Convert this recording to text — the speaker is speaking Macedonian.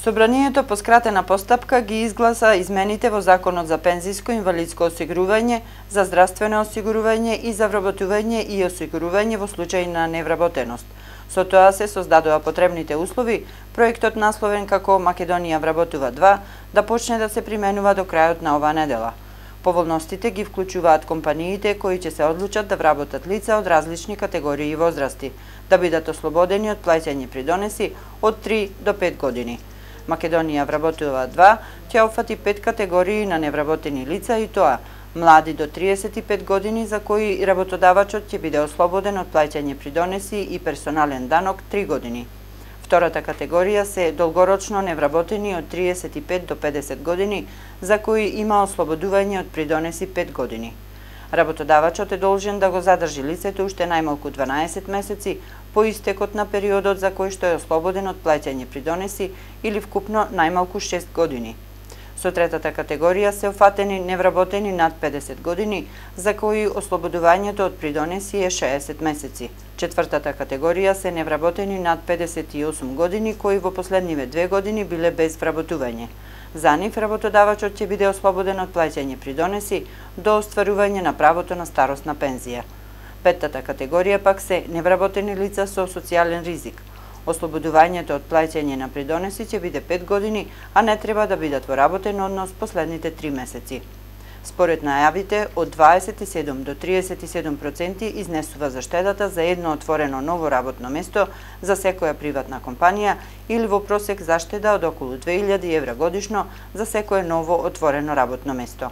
Собранието по скратена постапка ги изгласа измените во Законот за пензиско и инвалидско осигурување, за здравствено осигурување и за вработување и осигурување во случај на невработеност. Со тоа се создадоа потребните услови, проектот насловен како Македонија вработува 2 да почне да се применува до крајот на оваа недела. Поволностите ги вклучуваат компаниите кои ќе се одлучат да вработат лица од различни категории и возрасти, да бидат ослободени од плаќање придонеси од 3 до 5 години. Македонија вработува 2 ќе опфати 5 категории на невработени лица и тоа: млади до 35 години за кои работодавачот ќе биде ослободен од плаќање придонеси и персонален данок 3 години. Втората категорија се долгорочно невработени од 35 до 50 години за кои има ослободување од придонеси 5 години. Работодавачот е должен да го задржи лицето уште најмалку 12 месеци по истекот на периодот за кој што е ослободен од плаќање придонеси или вкупно најмалку 6 години. Со третата категорија се офатени невработени над 50 години за кои ослободувањето од придонеси е 60 месеци. Четвртата категорија се невработени над 58 години кои во последниве 2 години биле без вработување. За нив работодавачот ќе биде ослободен од плаќање придонеси до остварување на правото на старосна пензија. Петтата категорија пак се невработени лица со социјален ризик. Ослободувањето од плаќање на придонеси ќе биде 5 години, а не треба да бидат во работен однос последните 3 месеци. Според најавите, од 27 до 37% изнесува заштедата за едно отворено ново работно место за секоја приватна компанија или во просек заштеда од околу 2000 евра годишно за секое ново отворено работно место.